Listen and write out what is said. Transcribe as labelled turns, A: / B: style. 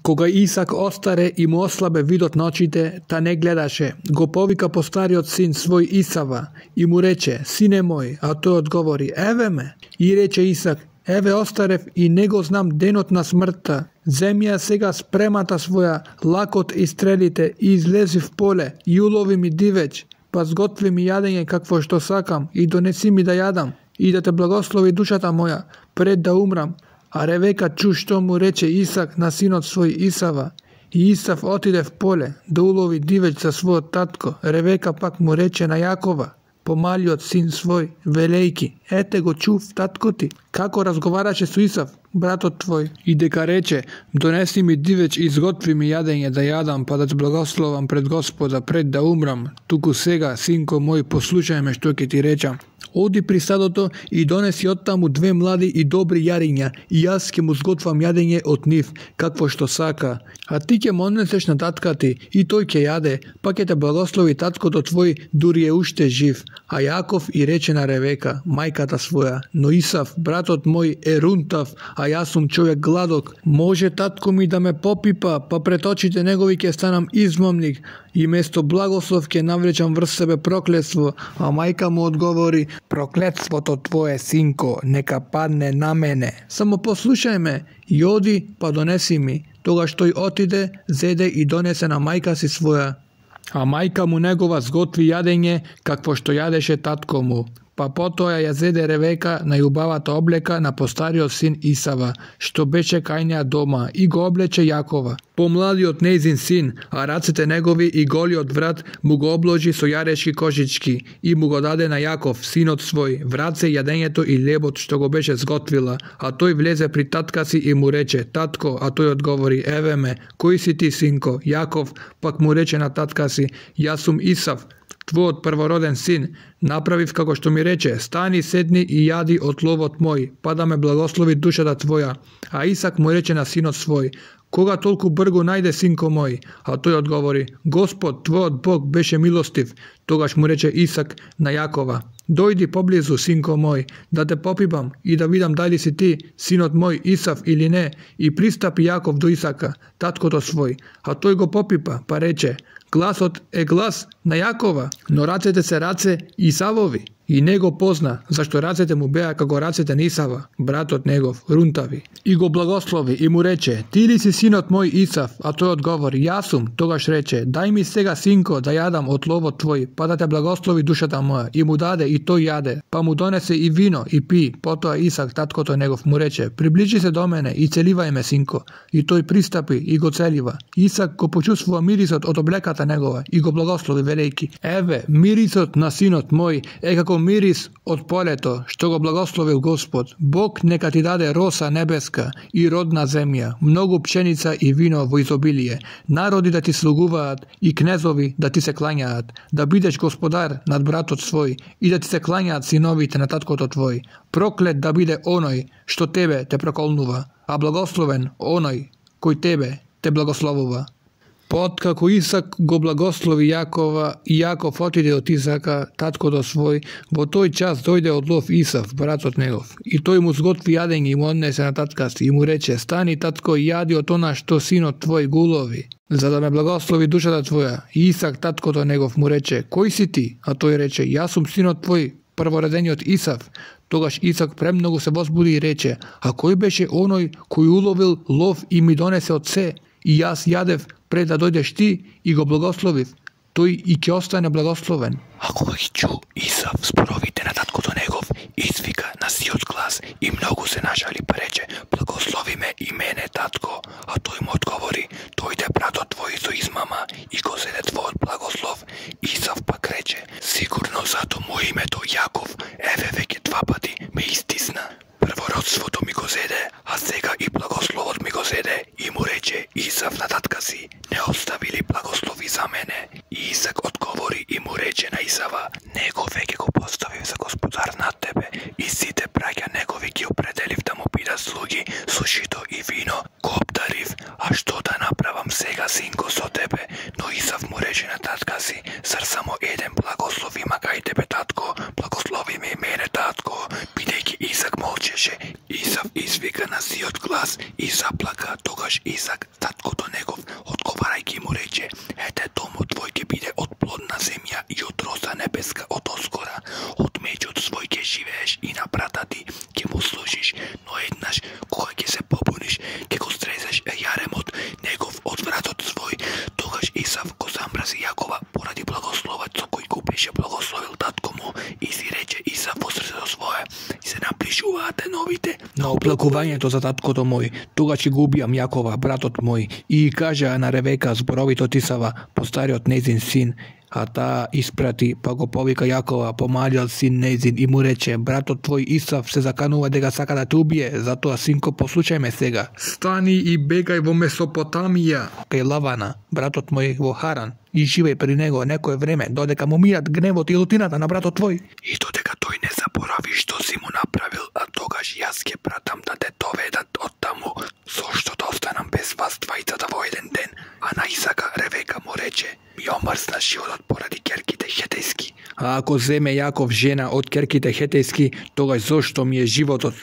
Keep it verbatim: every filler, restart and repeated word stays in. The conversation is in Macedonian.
A: Кога Исак остаре и му ослабе видот на очите, та не гледаше, го повика постариот син свој Исава и му рече: Сине мој, а тој одговори: Еве ме. И рече Исак: Еве остарев и не го знам денот на смртта. Земи ја сега спремата своја, лакот и стрелите, и излези в поле, и улови ми дивеч, па сготви ми јадење какво што сакам, и донеси ми да јадам, и да те благослови душата моја, пред да умрам. А Ревека чу што му рече Исак на синот свој Исава. И Исав отиде в поле да улови дивеч за својот татко. Ревека пак му рече на Јакова, помалиот син свој, велејки: Ете го чув татко ти, како разговараше со Исав, братот твој, и дека рече: Донеси ми дивеч и изготви ми јадење да јадам, па да те благословам пред Господа, пред да умрам. Туку сега, синко мој, послушај ме што ќе ти речам. Оди при стадото и донеси оттаму две млади и добри јариња, и јас ќе му сготвам јадење од нив, какво што сака. А ти ќе му однесеш на татка ти, и тој ќе јаде, па ќе те благослови таткото твој, дури е уште жив. А Јаков и рече на Ревека, мајката своја: Но Исав, братот мој, е рунтав, а јас сум човек гладок. Може татко ми да ме попипа, па пред очите негови ќе станам измамник, и место благослов ќе навлечам врз себе проклетство. А мајка му одговори: Проклетството твое, синко, нека падне на мене. Само послушај ме и оди, па донеси ми. Тогаш тој отиде, зеде и донесе на мајка си своја. А мајка му негова сготви јадење, какво што јадеше татко му. Па потоа ја зеде Ревека најубавата облека на постариот син Исава, што беше кај неа дома, и го облече Јакова. Помладиот нејзин син, а рацете негови и голиот врат му го обложи со јарешки кожички и му го даде на Јаков, синот свој, в раце јадењето и лебот што го беше сготвила. А тој влезе при татка си и му рече: Татко, а тој одговори: Еве ме. Кој си ти, синко? Јаков пак му рече на татка си: Јас сум Исав, твојот првороден син. Направив како што ми рече: Стани, седни и јади од ловот мој, па да ме благослови душата твоја. А Исак му рече на синот свој: Кога толку бргу најде, синко мој? А тој одговори: Господ, твојот Бог беше милостив. Тогаш му рече Исак на Јакова: Дојди поблизу, синко мој, да те попипам и да видам дали си ти, синот мој Исав или не. И пристапи Јаков до Исака, таткото свој, а тој го попипа, па рече: Гласот е глас на Јакова, но рацете се раце Исавови. И не го позна, зашто рацете му беа како рацете на Исава, братот негов, рунтави. И го благослови и му рече: Ти ли си синот мој Исав? А тој одговори: Јас сум. Тогаш рече: Дај ми сега, синко, да јадам од ловот твој, па да те благослови душата моја. И му даде, и тој јаде, па му донесе и вино и пи. Потоа Исак, таткото негов, му рече: Приближи се до мене и целивај ме, синко. И тој пристапи и го целива. Исак го почувствува мирисот од облеката негова и го благослови велејки: Еве, мирисот на синот мој е како мирис од полето, што го благословил Господ. Бог нека ти даде роса небеска и родна земја, многу пшеница и вино во изобилие, народи да ти слугуваат и кнезови да ти се клањаат, да бидеш господар над братот свој и да ти се клањаат синовите на таткото твој. Проклет да биде оној што тебе те проколнува, а благословен оној кој тебе те благословува. Откако Исак го благослови Јакова и Јаков отиде од Исака, таткото свој, во тој час дојде од лов Исав, братот негов, и тој му сготви јадење и му однесе на татка си и му рече: Стани, татко, и јади од она што синот твој го улови, за да ме благослови душата твоја. И Исак, таткото негов, му рече: Кој си ти? А тој рече: Јас сум синот твој, прворедениот Исав. Тогаш Исак премногу се возбуди и рече: А кој беше оној кој уловил лов и ми донесе од се, и јас јадев пред да дојдеш ти и го благословив? Тој и ќе остане благословен.
B: А кога ги чу Исав зборовите на таткото негов, извика на сиот глас и многу се нажали, па рече: Благослови ме и мене, татко. А тој му одговори: Дојде братот твој со измама и го зеде твојот благослов. Исав пак рече: Сигурно зато му името Јаков, еве веќе два пати ме истисна. Првородството ми го зеде, а сега и благословот ми го зеде. И му рече Исав на татка си: Не остави ли благослови за мене? И Исак одговори и му рече на Исава: Него веќе го поставив за господар над тебе, и сите браќа негови ги определив да му бидат слуги со жито и вино. Го обдарив, а што да направам сега, синко, со тебе? Но Исав му рече на татка си: Зар само еден благослов има кај тебе, татко? Благослови ме и мене, татко. Бидејќи Исак молчеше, Исав извика на сиот глас и заплака. Тогаш Исак Исак, таткото негов, одговарајќи му рече: ете, домот твој ќе биде од плодна земја и од роса небеска од оскора, од меѓот свој ќе живееш и на брата ти ќе му служиш, но еднаш кога ќе се побуниш, ќе го стрезеш јаремот негов од вратот свој. Тогаш Исав го замрази Јакова поради благословот со кој го беше благословил татко му и си рече Исав во срцето свое: и се наближуваат деновите
A: на оплакувањето за таткото мој, тогаш ќе го убијам Јакова, братот мој. И кажа на Ревека зборовите од Исава, постариот нејзин син, а таа испрати, па го повика Јакова, помалиот син нејзин, и му рече: братот твој Исав се заканува дека сака да те убие, затоа синко, послушај ме сега. Стани и бегај во Месопотамија, кај Лавана, братот мој во Харан, и живеј при него некое време, додека му мират гневот и лутината на братот твој.
B: И додека тој не заборави што си му направил, а тогаш јас ќе пратам да те доведат од таму, зошто да останам без вас двајцата во еден ден. А на Исака Ревека му рече: ми омрзна животот поради керките хетејски.
A: А ако земе Јаков жена од керките хетејски, тогаш зошто ми е животот?